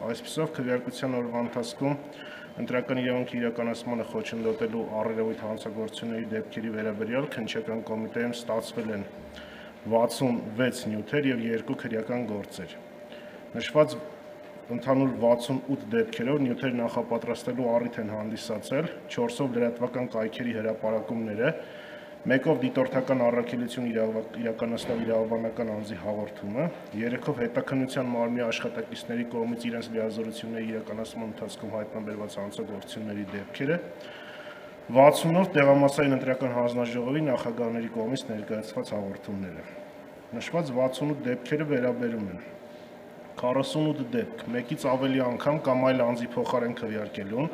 Այսպիսով քվեարկության օրվա ընթացքում ընտրական իրավունքի իրականացմանը խոչընդոտելու առերևույթ հանցագործությունների դեպքերի վերաբերյալ քննչական կոմիտեում ստացվել են 66 նյութեր և 2 քրեական գործեր։ Նշված ընդհանուր 68 դեպքերով նյութեր նախապատրաստելու առիթ են հանդիսացել 4-ով լրատվական կայքերի հրապարակումները, 1-ով դիտորդական առաքելություն իրականացնող իրավաբանական անձի հաղորդումը, 3-ով հետաքննության մարմնի աշխատակիցների կողմից իրենց լիազորությունների իրականացման ընթացքում հայտնաբերված հանցագործությունների դեպքերը, 60-ով տեղամասային ընտրական հանձնաժողովի նախագահների կողմից ներկայացված հաղորդումները։ Նշված 68 դեպքերը վերաբերում են 48 դեպք, մեկից ավելի անգամ կամ այլ անձի փոխարեն քվեարկելուն,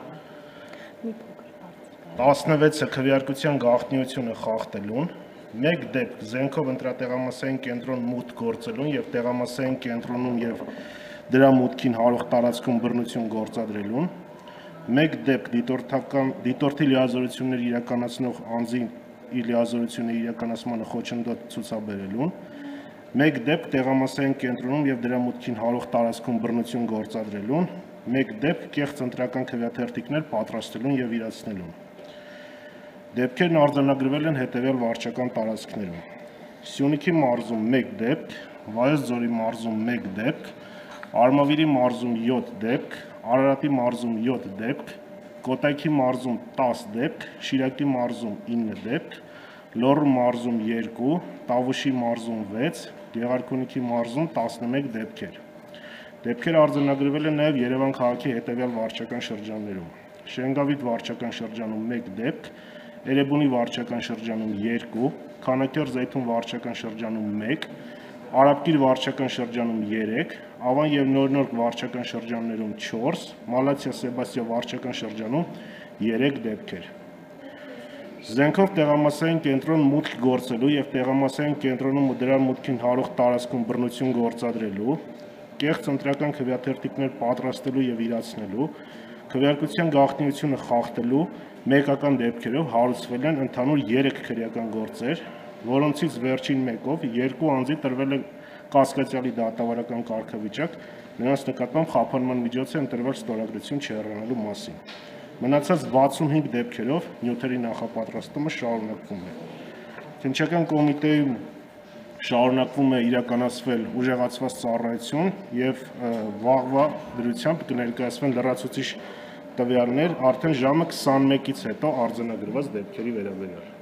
16-ը քվեարկության գաղտնիությունը խախտելուն, 1 դեպք զենքով ընտրատեղամասային կենտրոն մուտք գործելուն և տեղամասային կենտրոնում և դրա մուտքին հարող տարածքում բռնություն գործադրելուն, 1 դեպք դիտորդի լիազորություններ իրականացնող անձի իր լիազորությունների իրականացմանը խոչընդոտ ցուցաբերելուն, 1 դեպք տեղամասային կենտրոնում և դրա մուտքին հարող տարածքում բռնություն գործադրելուն, 1 դեպք կեղծ ընտրական քվեաթերթիկներ պատրաստելուն և իրացնելուն։ Դեպքերն արձանագրվել են հետևյալ վարչական տարածքներում. Սյունիքի մարզում 1 դեպք, Վայոց ձորի մարզում 1 դեպք, Արմավիրի մարզում 7 դեպք, Արարատի մարզում 7 դեպք, Կոտայքի մարզում 10 դեպք, Շիրակի մարզում 9 դեպք, Լոռու մարզում 2, Տավուշի մարզում 6, Գեղարքունիքի մարզում 11 դեպքեր։ Դեպքերը արձանագրվել են նաև Երևան քաղաքի հետևյալ վարչական շրջաններում. Շենգավիթ վարչական շրջանում 1 դեպք, Էրեբունի վարչական շրջանում 2, Քանաքեռ-Զեյթուն վարչական շրջանում 1, Արաբկիր վարչական շրջանում 3, Ավան և Նորնորդ վարչական շրջաններում 4, Մալաթիա-Սեբաստիա վարչական շրջանում 3 դեպքեր։ Զենքով տեղամասային կենտրոն մուտք գործելու և տեղամասային կենտրոնում ու դրա մուտքին հարող տարածքում բռնություն գործադրելու, կեղծ ընտրական քվեաթերթիկներ պատրաստելու և իրացնելու, քվեարկության գաղտնիությունը խախտելու մեկական դեպքերով հարուցվել են ընդհանուր 3 քրեական գործեր, որոնցից վերջին մեկով 2 անձի տրվել է կասկածյալի դատավարական կարգավիճակ, նրանց նկատմամբ խափանման միջոց է ընտրվել ստորագրություն չհեռանալու մասին։ Մնացած 65 դեպքերով նյութերի նախապատրաստումը շարունակվում է։ Քննչական կոմիտեում շարունակվում է իրականացվել ուժեղացված ծառայություն և վաղվա դրությամբ կներկայացվեն լրացուցիչ տվյալներ արդեն ժամը 21-ից հետո արձանագրված դեպքերի վերաբերյալ։